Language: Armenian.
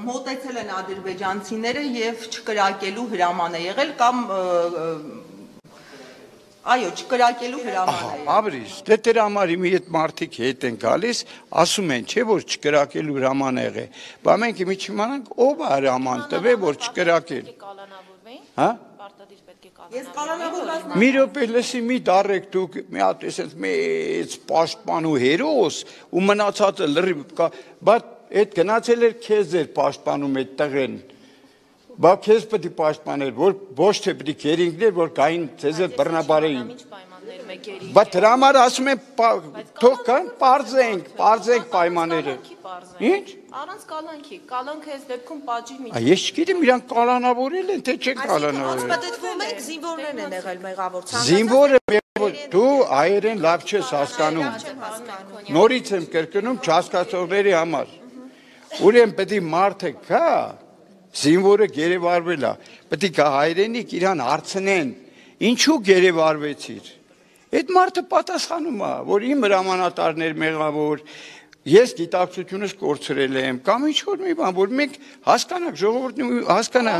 Մոտեցել են ադրբեջանցիները եւ չկրակելու հրաման է եղել կամ այո, չկրակելու հրաման է եղել։ Ապրիս, դե դեր համար իմի այդ մարդիկ հետ են գալիս, ասում են, չէ՞ որ չկրակելու հրաման է եղել։ Բա մենք իմի չիմանանք ով է հրաման տվել, որ չկրակել։ Հա? Ես կանանավորված Մի րոպե լսի մի դարեք դուք մի հատ էս մեծ պաշտպան ու հերոս ու մնացածը լրիվ կա, բայց այդ գնացել էր քեզ էր պաշտպանում այդ տղեն։ Բա քեզ պետք է պաշտպանել, որ ոչ թե պետք է գերինքներ, որ գային ցեզ էլ բռնաբարեին։ Բայց դրա համար ասում են թող կան պարզենք պայմանները։ Ինչ? Առանց կալանքի, կալանքը այս դեպքում պատժի միջոց։ Ես չգիտեմ իրանք կալանավորել են, թե չեն կալանավորել։ Պատտվում եք զինվորներն են եղել մեղավոր։ Զինվորը դու հայերեն լավ չես հասկանում։ Նորից եմ կրկնում չհասկացողների համար։ Ուրեմն պետք է մարդը գա, զինվորը գերեվարվել է, պետք է գա հայրենիք իրան հարցնեն, ինչու գերեվարվեցիր։ Այդ մարդը պատասխանում է, որ իմ հրամանատարներ մեղավոր, ես գիտակցությունս կորցրել եմ, կամ ինչ որ մի բան, որ մենք հասկանանք, ժողովուրդն հասկանա։